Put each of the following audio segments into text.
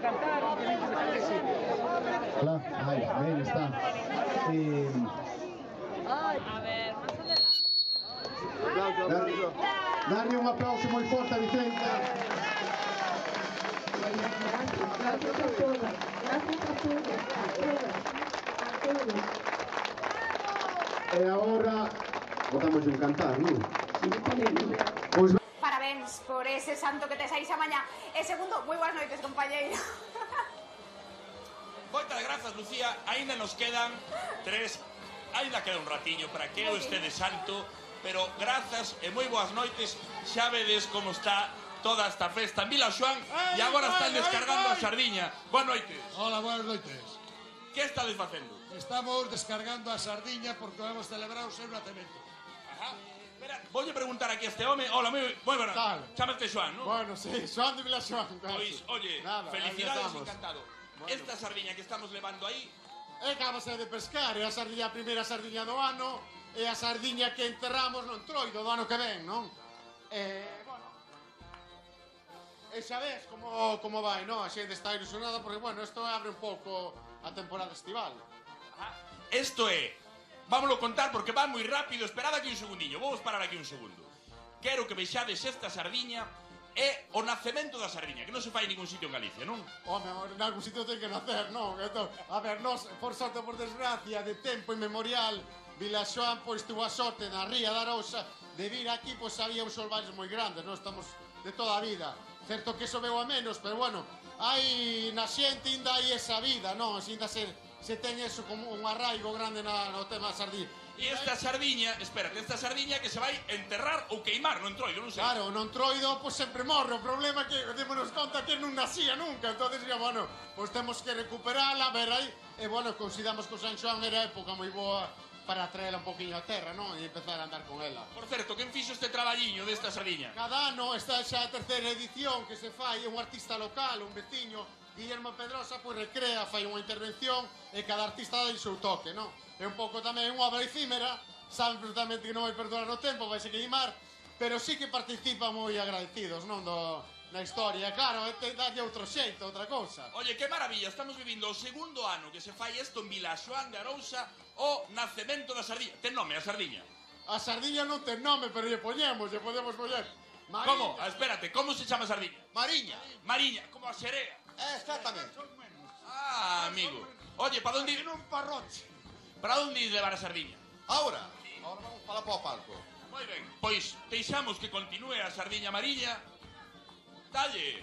cantar, tienes que dejar que sí. Hola, ahí, ben, está. A ver, más adelante. Darle un aplauso moi forte a Vicenta. Gracias a todos. E agora botamos un cantar, non? Pois Parabéns por ese santo que tes aí xa mañá. E segundo, moi boas noites, compañeiro. Moitas grazas, Lucía. Ainda nos quedan 3. Ainda queda un ratiño para que eu este de santo. Pero grazas e moi boas noites. Xa vedes como está toda esta festa en Vilaxoán. E agora están descargando a sardiña. Boas noites. Hola, buenas noites. Que estades facendo? Estamos descargando a sardiña porque vamos a celebrar o seu nacemento. Ajá. Espera, voulle preguntar aquí a este home. Hola, moi buenas. Tal. Chámate Xoán, non? Bueno, sí, Xoán de Vilaxoán. Pois, oye, nada, felicidades, estamos. encantado. Bueno. Esta sardiña que estamos levando aí, Acabase de pescar, é a sardiña, a primeira sardiña do ano, e a sardiña que enterramos no entroido do ano que ven, non? Bueno, e xa ves como vai, non? A xente está ilusionada porque, bueno, isto abre un pouco a temporada estival. isto é, vámoslo contar porque va moi rápido. Esperad aquí un segundiño, vamos parar aquí un segundo. Quero que vexades esta sardiña e o nacemento da sardiña, que non se fai en ningún sitio en Galicia, non? Home, en algún sitio ten que nacer, non? Entón, a ver, nos, por sorte ou por desgracia, de tempo inmemorial, Vilaxoán, pois, tuvo a sorte na ría da Arousa de vir aquí, pois, había uns solvares moi grandes, non? Estamos de toda a vida. Certo que iso veu a menos, pero, bueno, hai na xente ainda hai esa vida, non? Ainda se ten eso como un arraigo grande no tema da sardiña. E esta sardiña, espérate, esta sardiña que se vai enterrar ou queimar no entroido, non sei. Claro, no entroido, pois, sempre morre. O problema é que démonos conta que non nacía nunca. Entonces, ya, bueno, pois temos que recuperala, ver aí. E, bueno, consideramos que o San Xoán era época moi boa para traela un poquinho a terra, non? E empezar a andar con ela. Por certo, quen fixo este traballiño desta sardiña? Cada ano, esta xa a terceira edición que se fai, un artista local, un veciño, Guillermo Pedrosa, pois recrea, fai unha intervención e cada artista dá o seu toque, non? É un pouco tamén unha obra efímera, saben perfectamente que non vai perdurar no tempo, vai se queimar, pero sí que participan moi agradecidos, non? Na historia, claro, dalle outro xeito, outra cousa. Oye, que maravilla, estamos vivindo o segundo ano que se fai isto en Vilaxoán de Arousa, o nacemento da sardiña. Ten nome a sardiña? A sardiña non ten nome, pero lle podemos poñer. Como? Espérate, como se chama a sardiña? Mariña. Mariña, como a xerea. Exactamente. Ah, amigo. Oye, para onde... En un parroche. Para onde ir levar a sardiña? Ahora vamos para o palco. Moi ben, pois deixamos que continúe a sardiña mariña. Dalle.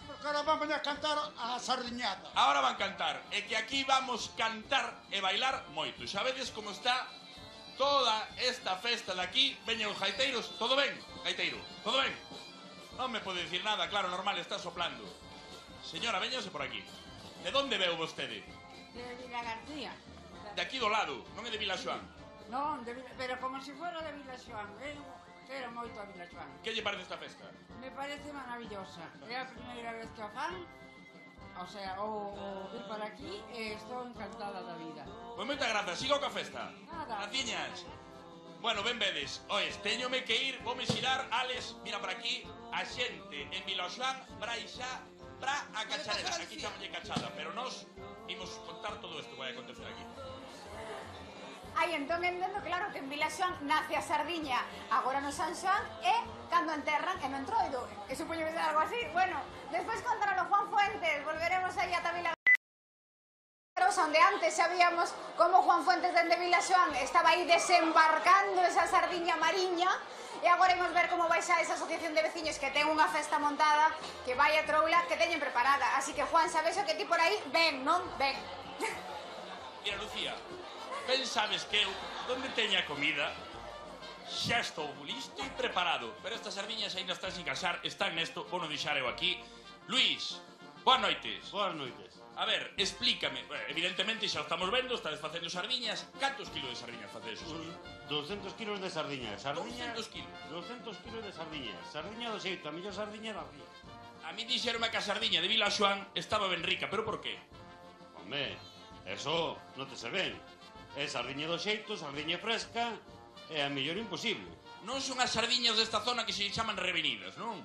Porque ahora vamos a cantar a sardiñata. Ahora van cantar, e que aquí vamos cantar e bailar moito. Xa vedes como está toda esta festa de aquí. Veñen os gaiteiros, todo ben, gaiteiro, todo ben. Non me pode dicir nada, claro, normal, está soplando. Señora, véñase por aquí. De onde veu vostede? De Vila García. De aquí do lado, non é de Vilaxoán. Non, pero como se fora de Vilaxoán. Quero moito a Vilaxoán. Que lle parece esta festa? Me parece maravillosa. É a primeira vez que a fan. O sea, o vir para aquí e estou encantada da vida. Pois moita grazas, siga coa festa. Nada. Graciñas. Bueno, ben vedes. Oes, teñome que ir, vome xirar, Alex, mira por aquí, a xente en Vilaxoán, braixa, pra a cacharela. Aquí chamalle cachada, pero nós imos contar todo isto que vai acontecer aquí. Ai, entón entendo, claro, que en Vilaxoán nace a sardiña agora no San Xoán e cando enterran en no entroido. E supoño que será algo así. Bueno, despois contaralo Juan Fuentes, volveremos aí ata Vila onde antes sabíamos como Juan Fuentes dende Vilaxoán estaba aí desembarcando esa sardiña mariña. E agora imos ver como vai xa esa asociación de veciños que ten unha festa montada, que vai a troula, que teñen preparada. Así que, Juan, sabes o que ti por aí? Ven, non? Ven. Mira, Lucía, ben sabes que eu, donde teña comida, xa estou listo e preparado. Pero estas sardiñas ainda están sin casar, están nesto, vou non deixar eu aquí. Luís, boas noites. Boas noites. A ver, explícame. Evidentemente xa o estamos vendo, estades facendo sardiñas. Cantos kilos de sardiñas facedes? 200 kilos de sardiñas. 200 kilos. 200 kilos de sardiñas. Sardiña do xeito, a mellor sardiña da ría. A mí dixeronme que a sardiña de Vilaxoán estaba ben rica, pero por qué? Home, eso non te se ven. É sardiña do xeito, sardiña fresca, é a mellor imposible. Non son as sardiñas desta zona que se chaman revenidas, non?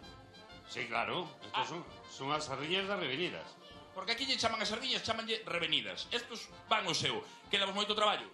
Sí, claro. Estos son as sardiñas das revenidas. Porque aquí lle chaman as sardiñas, chamanlle revenidas. Estos van o seu. Quedamos moito traballo.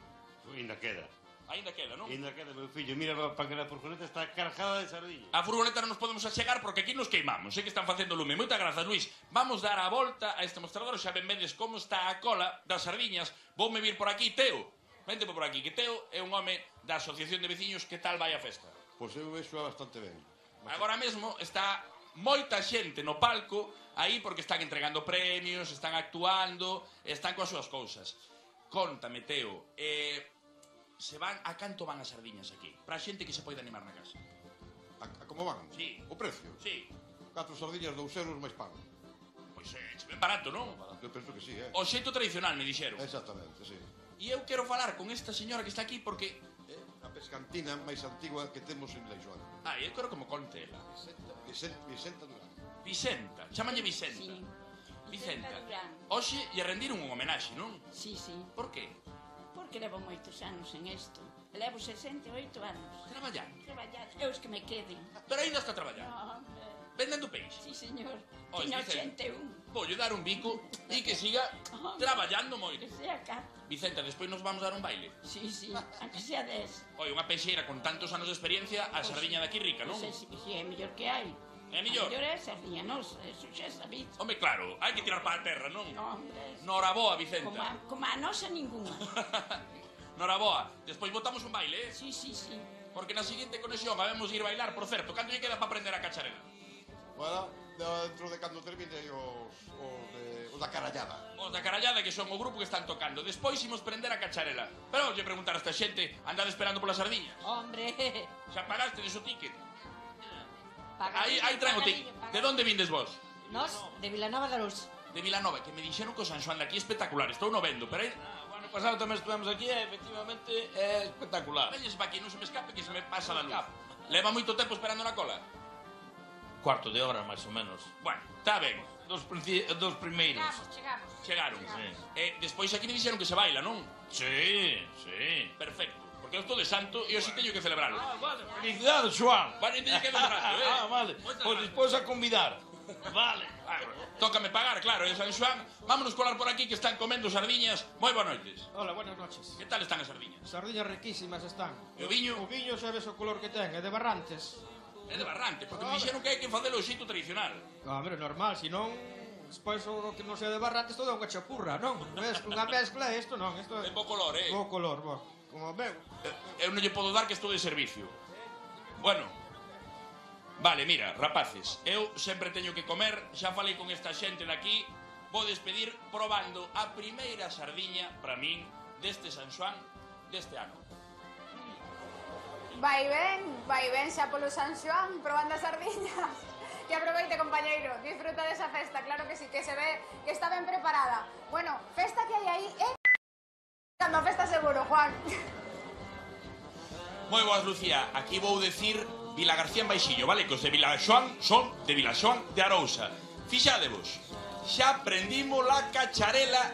Ainda queda. Ainda queda, non? Ainda queda, meu fillo. Mira para que a furgoneta está cargada de sardiñas. A furgoneta non nos podemos achegar porque aquí nos queimamos. Sei que están facendo lume. Moitas grazas, Luís. Vamos dar a volta a este mostrador. Xa ben vedes como está a cola das sardiñas. Voume vir por aquí, Teo. Vente por aquí, que Teo é un home da Asociación de Veciños. Que tal vai a festa? Pois eu vexo bastante ben. Agora mesmo está moita xente no palco aí porque están entregando premios, están actuando, están coas súas cousas. Contame, Teo, se van a canto van as sardiñas aquí? Para a xente que se pode animar na casa. A como van? Sí. O precio? Sí. 4 sardiñas, 2 euros máis pan. Pois ben barato, non? Eu penso que sí, O xeito tradicional, me dixeron. Exactamente, sí. E eu quero falar con esta señora que está aquí porque... A pescantina máis antigua que temos en Leixoan. Eu quero que me conte ela. Vicenta Durán. Vicenta, chámanlle Vicenta. Sí. Vicenta. Durán. Hoxe lle rendiron un homenaxe, non? Sí, sí. Por qué? Porque levo moitos anos en isto. Levo 68 anos. Traballando. Traballando. Eu os que me queden. Pero ainda está traballando. No, Vendendo peixe. sí, señor. Ois, Teño Vicenta. 81. Voulle dar un bico e que siga traballando moito. Que sea cá. Vicenta, despois nos vamos dar un baile. Sí, sí. Aunque sea 10. Oi, unha peixeira con tantos anos de experiencia, a sardiña daqui rica, non? Non sei se é mellor que hai. É mellor? A mellor é a sardiña, non? Eso xa sabido. Home, claro, hai que tirar para a terra, non? No, hombre. Noraboa, Vicenta. Como a nosa ninguna. Noraboa. Despois botamos un baile, Sí, sí, sí. Porque na seguinte conexión habemos ir bailar, por certo. Canto lle queda para aprender a cacharela? Bueno, dentro de cando termine os da carallada. Os da carallada, que son o grupo que están tocando. Despois imos prender a cacharela. Pero lle preguntar a esta xente, andade esperando pola sardiña. Hombre. Xa pagaste de su ticket? Pagadillo, Aí traen o ticket. pagadillo, De onde vindes vos? Nos, de Vilanova de Luz. De Vilanova, que me dixeron que o San Xoán de aquí é espectacular. Estou no vendo, pero aí... O ano pasado tamén estuvemos aquí e efectivamente é espectacular. Veñes pa aquí, non se me escape, que se me pasa la luz. Leva moito tempo esperando na cola? Cuarto de hora, máis ou menos. Bueno, está ben. Dos primeiros. Chegamos. Chegaron. Sí. Despois aquí me dixeron que se baila, non? Sí, sí. Perfecto. Porque eu estou de santo e hoxe teño que celebrarlo. Vale. Felicidades, Joan. Vale, teño que celebrarlo, Vale. Moitas Pois gracias. despois a convidar. Vale. Tócame pagar, claro, en San Xoán. Vámonos colar por aquí que están comendo sardiñas. Moi boas noites. Hola, buenas noches. Que tal están as sardiñas? Sardiñas riquísimas están. E o viño? O viño xa ves o color que ten, é de Barrantes. É de Barrante, porque me dixeron que hai que facelo o xeito tradicional. Hombre, normal, se non... Despois o que non sea de Barrantes todo é unha chapurra, non? Ves, unha mezcla isto non, isto É bo color, bo color, bo. Como veo. Eu non lle podo dar que estou de servicio. Bueno. Vale, mira, rapaces, eu sempre teño que comer, xa falei con esta xente daqui, vou despedir probando a primeira sardiña, para min, deste San Xoán deste ano. Vai ben xa polo San Xoán probando as sardiñas. Que aproveite, compañeiro, disfruta desa festa, claro que sí, que se ve que está ben preparada. Bueno, festa que hai aí é... Cando a festa seguro, Juan. Moi boas, Lucía, aquí vou decir Vila García en Baixillo, vale? Que os de Vilaxoán son de Vilaxoán de Arousa. Fixadevos, xa prendimos la cacharela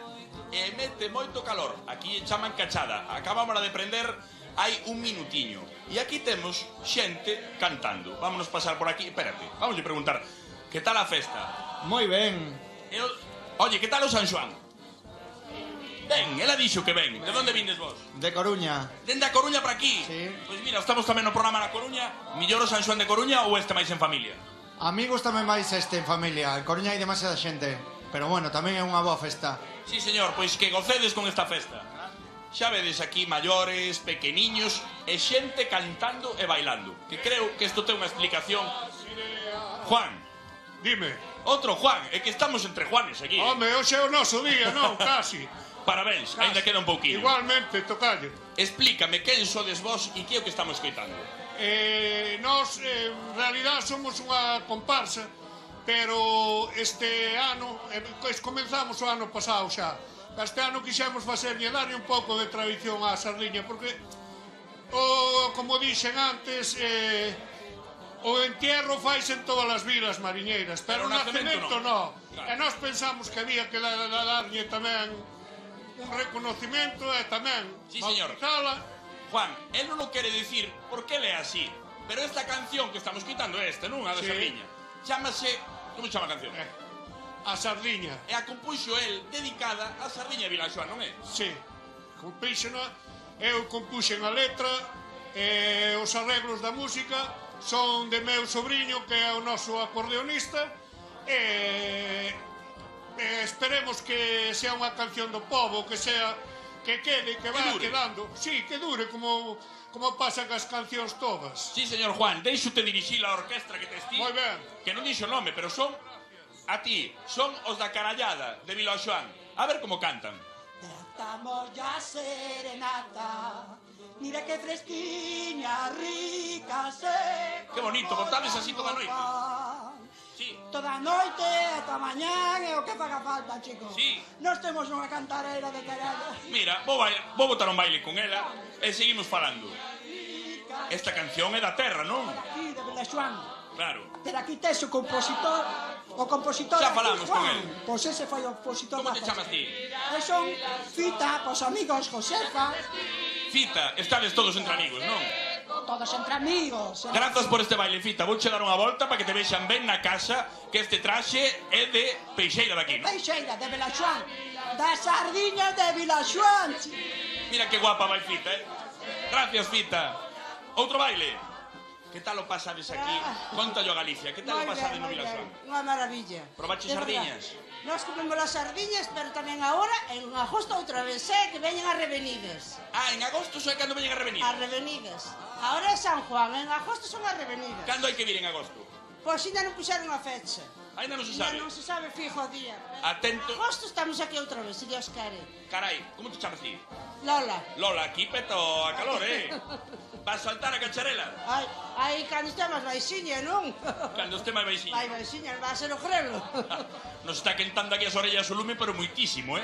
e mete moito calor. Aquí chaman cachada, acabamos de prender hai un minutiño. E aquí temos xente cantando. Vámonos pasar por aquí, espérate, vamos a preguntar, que tal a festa? Moi ben. Oye, que tal o San Xoán? Ben, ela dixo que ben. De onde vindes vos? De Coruña. Dende a Coruña para aquí? Sí. Pois mira, estamos tamén no programa na Coruña. Millor o San Xoán de Coruña ou este máis en familia? Amigos tamén máis este en familia. En Coruña hai demasiada xente. Pero bueno, tamén é unha boa festa. Sí, señor, pois que gocedes con esta festa. Xa vedes aquí maiores, pequeniños e xente cantando e bailando. Que creo que isto ten unha explicación. Juan. Dime. Outro Juan, é que estamos entre Juanes aquí. Home, hoxe é o noso día, non? Casi. Parabéns, ainda queda un pouquinho. Igualmente, tocalle. Explícame quen sodes vos e que é o que estamos escoitando. Nós, en realidad, somos unha comparsa, pero este ano, comenzamos o ano pasado xa. Este ano quixemos facerlle darlle un pouco de tradición á sardiña, porque, como dixen antes, o entierro faise en todas as vilas mariñeiras, pero o nacemento non. E nós pensamos que había que darlle tamén un reconocimiento e tamén bautizala. Juan, él non o quere dicir porque ele é así, pero esta canción que estamos quitando é esta, non? A de Sardiña. Chámase... Como chama a canción? A sardiña. E a compuxo el dedicada a sardiña de Vilaxoán, non é? Sí. Compíxena, eu compuxen a letra, os arreglos da música son de meu sobrinho, que é o noso acordeonista, e esperemos que sea unha canción do povo, que sea, que quede, que vaya quedando. Sí, que dure, como pasan as cancións todas. Sí, señor Juan, deixo-te dirixir a orquestra que tes ti. Moi ben. Que non dixo nome, pero son a ti, son os da Carallada de Vilaxoán. A ver como cantan. Estamos ya serenata, mira que fresquiña, rica, seca. Que bonito, botades así toda a noite. Sí. Toda a noite, ata mañán, é o que faga falta, chicos. Sí. Nós temos unha cantareira de carallo. Mira, vou botar un baile con ela e seguimos falando. Esta canción é da terra, non? Aquí, de Vilaxoán. Claro. Pero aquí tes o compositor. O compositor... Xa falamos con el. Pois ese foi o compositor. Como te chamas ti? Son Fita, pos amigos, Josefa. Fita, estades todos entre amigos, non? Todos entre amigos. Grazas por este baile, Fita. Vouche dar unha volta para que te vexan ben na casa que este traxe é de Peixeira daqui, non? Peixeira, de Vilaxoán. Da sardiña de Vilaxoán. Mira que guapa vai Fita, Gracias, Fita. Outro baile. Que tal o pasades aquí? Contallo a Galicia. Que tal o pasades no Vilaxoán? Unha maravilla. Probache sardiñas? Nós comemos as sardiñas, pero tamén agora, en agosto outra vez, que veñen as revenidas. Ah, en agosto son cando veñen as revenidas? As revenidas. Agora é San Juan, en agosto son as revenidas. Cando hai que vir en agosto? Pois ainda non puxeron a fecha. Ainda non se sabe? Ainda non se sabe fijo o día. Atento. En agosto estamos aquí outra vez, se Dios quere. Carai, como te chamas ti? Lola. Lola, aquí peto a calor, Vas saltar a cacharela? Ai, cando este máis baixiña, non? Cando este máis baixiña. Vai baixiña, vai ser o grelo. Nos está quentando aquí as orellas o lume, pero muitísimo,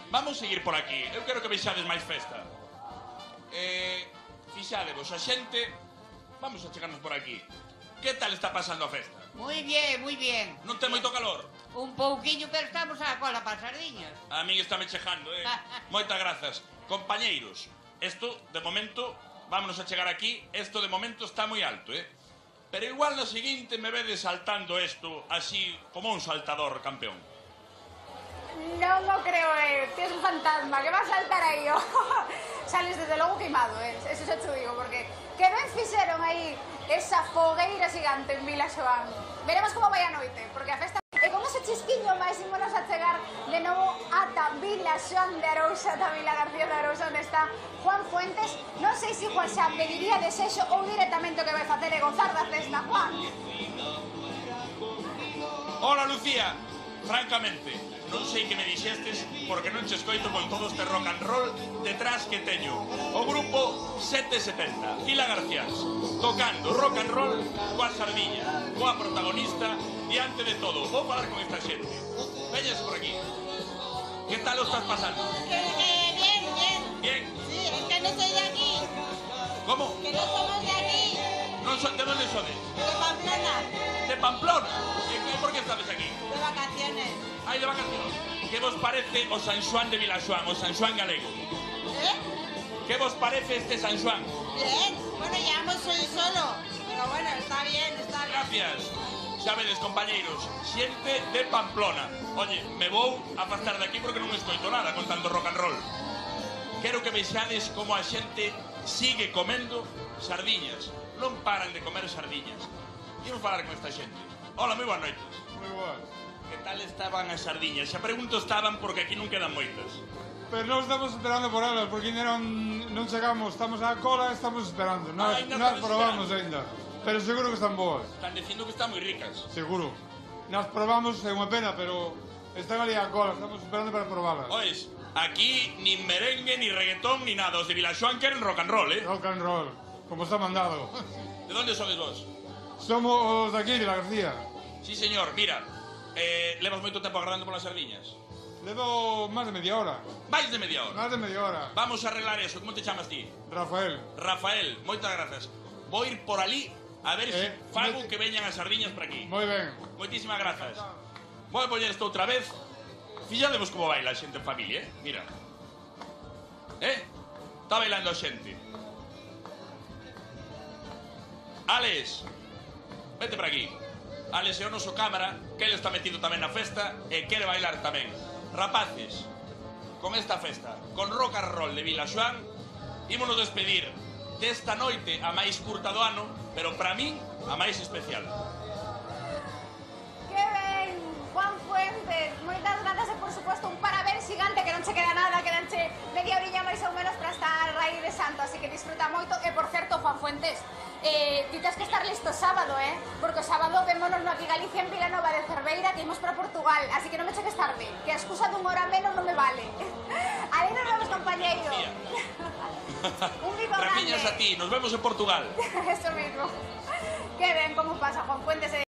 Vamos seguir por aquí. Eu quero que vexades máis festa. Fixadevos, a xente... Vamos a chegarnos por aquí. Que tal está pasando a festa? Muy bien, muy bien. Non ten moito calor? Un pouquiño, pero estamos a cola para sardiñas. A min está me chejando, Moitas grazas. Compañeiros, isto, de momento, vámonos a chegar aquí. Isto, de momento, está moi alto, Pero igual na seguinte me vedes saltando isto así como un saltador campeón. Non o creo, Tienes un fantasma, que va a saltar aí, Sales desde logo queimado, Eso xa te digo, porque que ben fixeron aí esa fogueira xigante en Vilaxoán. Veremos como vai a noite, porque a festa... E con ese chisquiño máis ímonos a chegar de novo ata Vilaxoán de Arousa, ata Vila García de Arousa, onde está Juan Fuentes. Non sei se Juan xa pediría desexo ou directamente o que vai facer é gozar da festa, Juan. Hola, Lucía. Francamente, non sei que me dixestes porque non che escoito con todo este rock and roll detrás que teño. O grupo 770, Vila Garcías, tocando rock and roll coa sardiña, coa protagonista diante de todo. Vou falar con esta xente. Veñas por aquí. Que tal o estás pasando? Bien, bien. Bien. Sí, es que no soy de aquí. ¿Cómo? Que no somos de aquí. ¿De dónde sodes? De Pamplona. ¿De Pamplona? ¿Y por qué estás aquí? De vacaciones. Ay, de vacaciones. ¿Qué vos parece o San Xuan de Vilaxoán, o San Xuan galego? ¿Qué vos parece este San Xuan? Bien. Bueno, llevamos hoy solo. Pero bueno, está bien, está bien. Gracias. Xa vedes, compañeiros, xente de Pamplona. Oye, me vou a afastar de aquí porque non escoito nada con tanto rock and roll. Quero que vexades como a xente sigue comendo sardiñas. Non paran de comer sardiñas. Quero falar con esta xente. Hola, moi boas noites. Moi boas. Que tal estaban as sardiñas? Xa pregunto estaban porque aquí non quedan moitas. Pero non estamos esperando por elas, porque ainda non chegamos, estamos á cola e estamos esperando. Nós probamos ainda, pero seguro que están boas. Están dicindo que están moi ricas. Seguro. Nós probamos, é unha pena, pero están ali á cola, estamos esperando para probalas. Ois, aquí nin merengue, ni reggaetón, ni nada. Os de Vilaxoán queren rock and roll, Rock and roll, como está mandado. De onde sodes vos? Somos de aquí, de la García. Sí, señor, mira, levas moito tempo agardando polas sardiñas. Levo máis de media hora. Máis de media hora? Máis de media hora. Vamos a arreglar eso. Como te chamas ti? Rafael. Rafael, moitas grazas. Vou ir por ali a ver se fago que veñan as sardiñas por aquí. Moi ben. Moitísimas grazas. Vou a poñer isto outra vez. Fixademos como baila a xente en familia, Mira. Está bailando a xente. Alex, vete por aquí. Alex é o noso cámara, que ele está metido tamén na festa e quere bailar tamén. Rapaces, con esta festa, con rock and roll de Vilaxoán, ímonos despedir desta noite a máis curta do ano, pero para min a máis especial. Que ben, Juan Fuentes, moitas grazas e por suposto un parabéns gigante que non che queda nada, quedanche media orilla máis ou menos para estar aí de santo, así que disfruta moito. E por certo, Juan Fuentes, ti tens que estar listo sábado, porque o sábado vémonos no aquí Galicia en Vilanova de Cerveira que imos para Portugal, así que non me cheques tarde, que a excusa dun hora menos non me vale. Ali nos vemos, compañeiro. Un bico grande. Rapiñas a ti, nos vemos en Portugal. Eso mismo. Que ben, como pasa, Juan Fuentes.